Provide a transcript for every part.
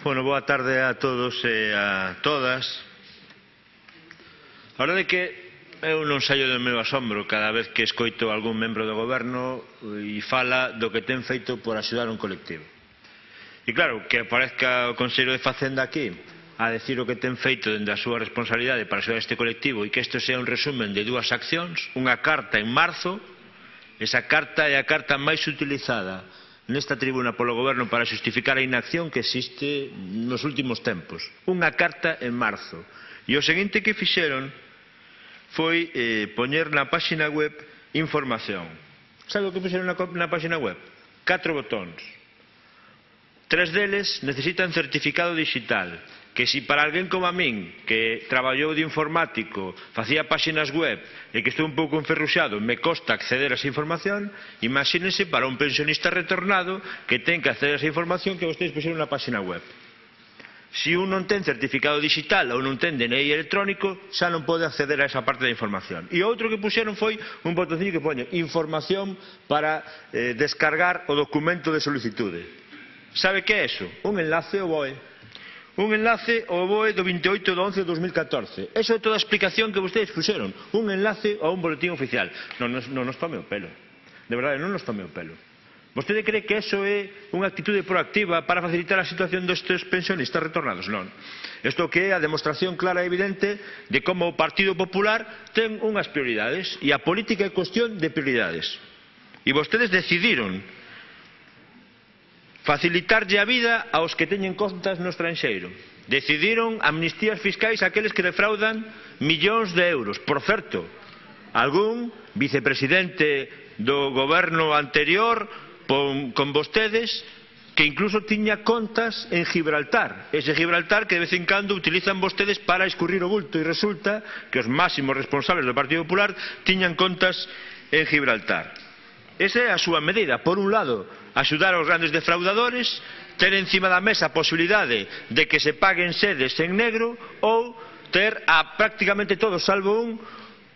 Bueno, boa tarde a todos e a todas. A verdade é que eu non saio do meu asombro cada vez que escoito algún membro do goberno e fala do que ten feito por axudar un colectivo. E claro, que aparezca o conselleiro de Facenda aquí a decir o que ten feito dende a súa responsabilidade para axudar este colectivo e que isto sea un resumen de dúas accións, unha carta en marzo, esa carta é a carta máis utilizada nesta tribuna polo goberno para xustificar a inacción que existe nos últimos tempos. Unha carta en marzo. E o seguinte que fixeron foi poñer na página web información. Sabe o que fixeron na página web? 4 botóns. 3 deles necesitan certificado digital, que si para alguén como a min, que traballou de informático, facía páxinas web e que estou un pouco enferruxado, me costa acceder a esa información, imagínense para un pensionista retornado que ten que acceder a esa información que vostedes puxeron na páxina web. Si un non ten certificado digital ou non ten DNI electrónico, xa non pode acceder a esa parte da información. E outro que puxeron foi un botoncillo que pone información para descargar o documento de solicitude. Sabe que é eso? Un enlace ao BOE. Un enlace ao BOE do 28 de 11 de 2014. Eso é toda a explicación que vostedes puxeron. Un enlace a un boletín oficial. Non nos tome o pelo. De verdade, non nos tome o pelo. Vostede cree que eso é unha actitude proactiva para facilitar a situación destes pensionistas retornados? Non. Isto que é a demostración clara e evidente de como o Partido Popular ten unhas prioridades e a política é cuestión de prioridades. E vostedes decidiron facilitarlle a vida aos que teñen contas no estranxeiro. Decidiron amnistías fiscais àqueles que defraudan millóns de euros. Por certo, algún vicepresidente do goberno anterior con vostedes que incluso tiña contas en Gibraltar. Ese Gibraltar que de vez en cando utilizan vostedes para escurrir o bulto e resulta que os máximos responsables do Partido Popular tiñan contas en Gibraltar. Esa é a súa medida. Por un lado, axudar aos grandes defraudadores, ter encima da mesa a posibilidade de que se paguen sedes en negro ou ter a prácticamente todos, salvo un,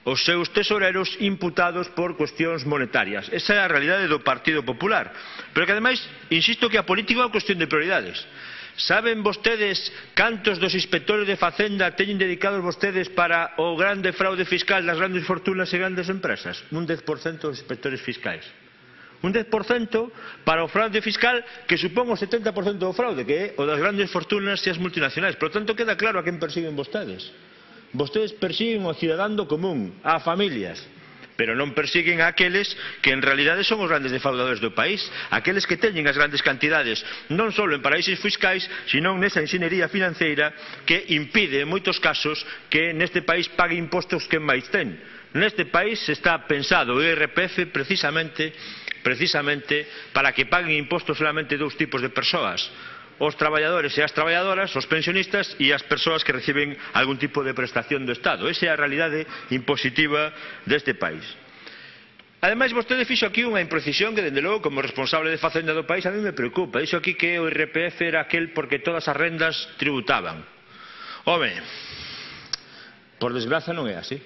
os seus tesoreros imputados por cuestións monetarias. Esa é a realidade do Partido Popular. Pero que ademais, insisto que a política é unha cuestión de prioridades. Saben vostedes cantos dos inspectores de Facenda teñen dedicados vostedes para o grande fraude fiscal das grandes fortunas e grandes empresas? Un 10% dos inspectores fiscais. Un 10% para o fraude fiscal que supón o 70% do fraude, que é o das grandes fortunas e as multinacionais. Por tanto, queda claro a quen persiguen vostedes. Vostedes persiguen ao cidadano común, a familias, pero non persiguen a aqueles que en realidade son os grandes defraudadores do país, aqueles que teñen as grandes cantidades non só en paraísos fiscais, sino nesa enxeñería financeira que impide en moitos casos que neste país pague impostos quen máis ten. Neste país está pensado o IRPF precisamente para que paguen impostos solamente dous tipos de persoas: os traballadores e as traballadoras, os pensionistas e as persoas que reciben algún tipo de prestación do Estado. Esa é a realidade impositiva deste país. Ademais, vostede fixo aquí unha imprecisión que, dende logo, como responsable de Facenda do país, a mí me preocupa. Dixo aquí que o IRPF era aquel porque todas as rendas tributaban. Home, por desgraza non é así.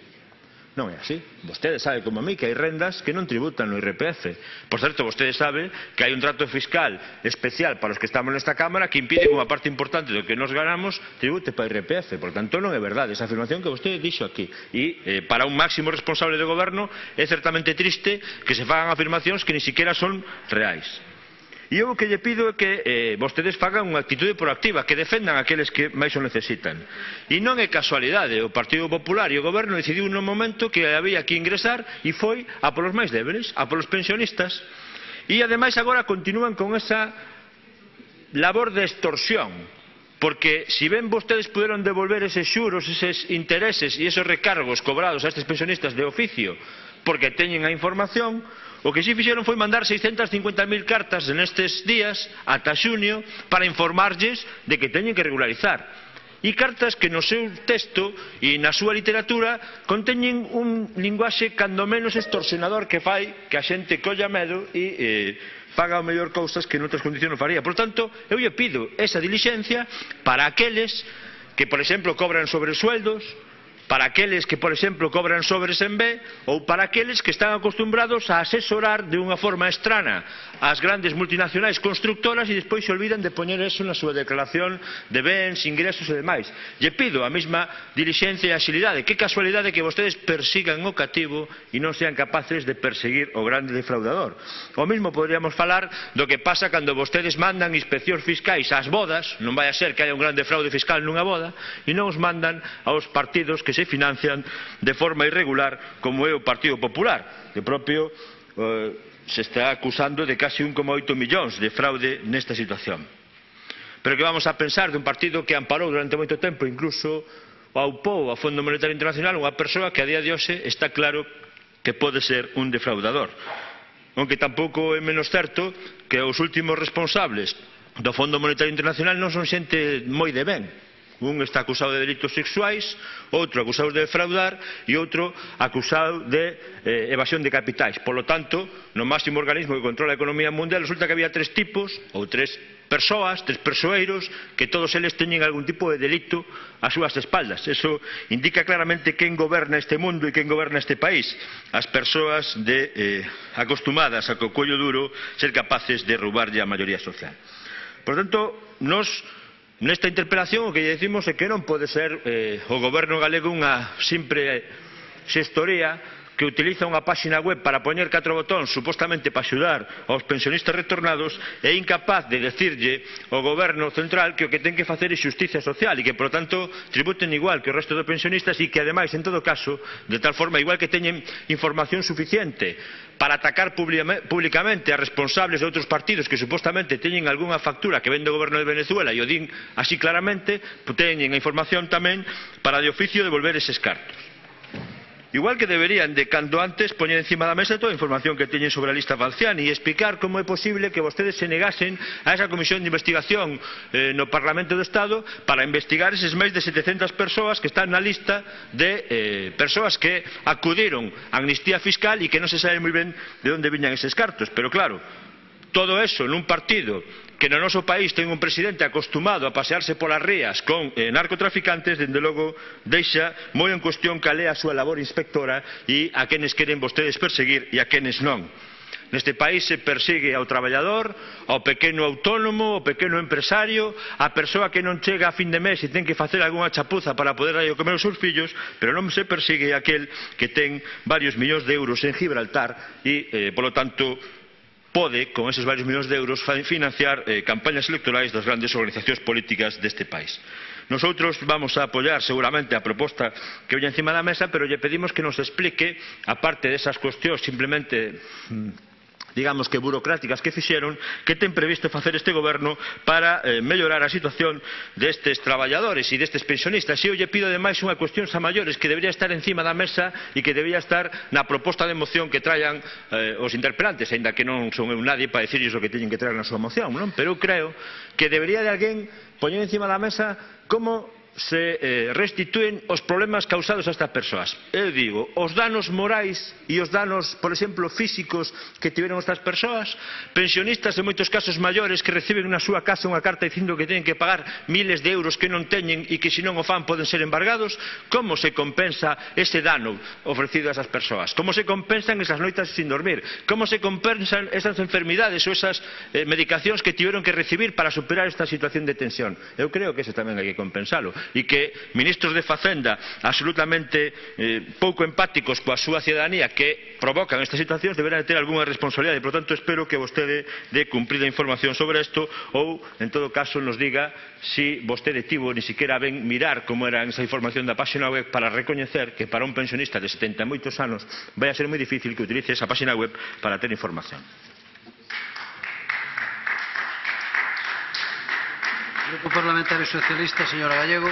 Non é así. Vostede sabe como a mí que hai rendas que non tributan no IRPF. Por certo, vostede sabe que hai un trato fiscal especial para os que estamos nesta Cámara que impide que unha parte importante do que nos ganamos tribute para o IRPF. Por tanto, non é verdade esa afirmación que vostede dixo aquí. E para un máximo responsable do goberno é certamente triste que se fagan afirmacións que ni siquiera son reais. E eu o que lle pido é que vostedes fagan unha actitude proactiva, que defendan aqueles que máis o necesitan. E non é casualidade, o Partido Popular e o Goberno decidiu nun momento que había que ingresar e foi a polos máis débeles, a polos pensionistas. E ademais agora continúan con esa labor de extorsión, porque si ben vostedes puderon devolver eses xuros, eses intereses e esos recargos cobrados a estes pensionistas de oficio porque teñen a información, o que si fixeron foi mandar 650.000 cartas nestes días ata xuño para informarlles de que teñen que regularizar. E cartas que no seu texto e na súa literatura conteñen un linguaxe cando menos extorsionador que fai que a xente colla medo e faga o mellor cousas que noutras condicións non faría. Por tanto, eu lle pido esa dilixencia para aqueles que, por exemplo, cobran sobresueldos, para aqueles que, por exemplo, cobran sobres en B ou para aqueles que están acostumbrados a asesorar de unha forma estrana as grandes multinacionais constructoras e despois se olvidan de poñer eso na súa declaración de bens, ingresos e demais. Lle pido a mesma dilixencia e axilidade. Que casualidade que vostedes persigan o cativo e non sean capaces de perseguir o grande defraudador. O mesmo poderíamos falar do que pasa cando vostedes mandan inspeccións fiscais ás bodas, non vai a ser que haya un grande fraude fiscal nunha boda, e non os mandan aos partidos que se financian de forma irregular, como é o Partido Popular, que propio se está acusando de casi 1,8 millóns de fraude nesta situación. Pero que vamos a pensar dun partido que amparou durante moito tempo, incluso aupou ao Fondo Monetario Internacional, unha persoa que a día de hoxe está claro que pode ser un defraudador. Aunque tampouco é menos certo que os últimos responsables do Fondo Monetario Internacional non son xente moi de ben. Un está acusado de delitos sexuais, outro acusado de defraudar e outro acusado de evasión de capitais. Por lo tanto, no máximo organismo que controla a economía mundial resulta que había tres tipos ou tres persoas, tres persoeiros, que todos eles teñen algún tipo de delito ás súas espaldas. Eso indica claramente quen goberna este mundo e quen goberna este país. As persoas acostumadas a co cuello duro ser capaces de roubarlle a maioría social. Por tanto, nesta interpelación o que lle dicimos é que non pode ser o goberno galego unha simple xestoría que utiliza unha páxina web para poñer 4 botóns supostamente para axudar aos pensionistas retornados e incapaz de decirlle ao goberno central que o que ten que facer é xustiza social e que, por tanto, tributen igual que o resto dos pensionistas e que, ademais, en todo caso, de tal forma, igual que teñen información suficiente para atacar públicamente a responsables de outros partidos que supostamente teñen algunha factura que ven do goberno de Venezuela e o din así claramente, teñen a información tamén para de oficio devolver eses cartos. Igual que deberían de cando antes poñer encima da mesa toda a información que teñen sobre a lista Falciani e explicar como é posible que vostedes se negasen a esa comisión de investigación no Parlamento do Estado para investigar eses máis de 700 persoas que están na lista de persoas que acudiron a amnistía fiscal e que non se sabe moi ben de onde viñan eses cartos. Pero claro, todo eso nun partido que no noso país ten un presidente acostumado a pasearse polas rías con narcotraficantes, dende logo deixa moi en cuestión cal é a súa labor inspectora e a quenes queren vostedes perseguir e a quenes non. Neste país se persigue ao traballador, ao pequeno autónomo, ao pequeno empresario, á persoa que non chega a fin de mes e ten que facer algunha chapuza para poder darlle comer aos seus fillos, pero non se persigue aquel que ten varios millóns de euros en Gibraltar e, polo tanto, pode, con esos varios millóns de euros, financiar campañas electorais das grandes organizacións políticas deste país. Nosotros vamos a apoiar seguramente a proposta que veña encima da mesa, pero lle pedimos que nos explique, aparte desas cuestións simplemente digamos que burocráticas que fixeron, que ten previsto facer este goberno para mellorar a situación destes traballadores e destes pensionistas. E eu lle pido ademais unha cuestión a maiores que debería estar encima da mesa e que debería estar na proposta de moción que traian os interpelantes, aínda que non son eu nadie para dicirles o que teñen que traer na súa moción, non? Pero eu creo que debería de alguén poñer encima da mesa como se restituen os problemas causados a estas persoas. Eu digo, os danos morais e os danos, por exemplo, físicos que tiveron estas persoas, pensionistas en moitos casos maiores que reciben na súa casa unha carta dicindo que teñen que pagar miles de euros que non teñen e que se non o fan poden ser embargados. Como se compensa ese dano ofrecido a esas persoas? Como se compensan esas noites sin dormir? Como se compensan esas enfermidades ou esas medicacións que tiveron que recibir para superar esta situación de tensión? Eu creo que eso tamén hai que compensalo. E que ministros de Facenda absolutamente pouco empáticos coa súa cidadanía que provocan estas situacións deberán de ter algunha responsabilidade. Por tanto, espero que vostede dé cumprida información sobre isto ou, en todo caso, nos diga si vostede tivo ni siquiera ben mirar como era esa información da páxina web para recoñecer que para un pensionista de 70 e moitos anos vai a ser moi difícil que utilice esa páxina web para ter información. Grupo Parlamentario Socialista, señora Gallego.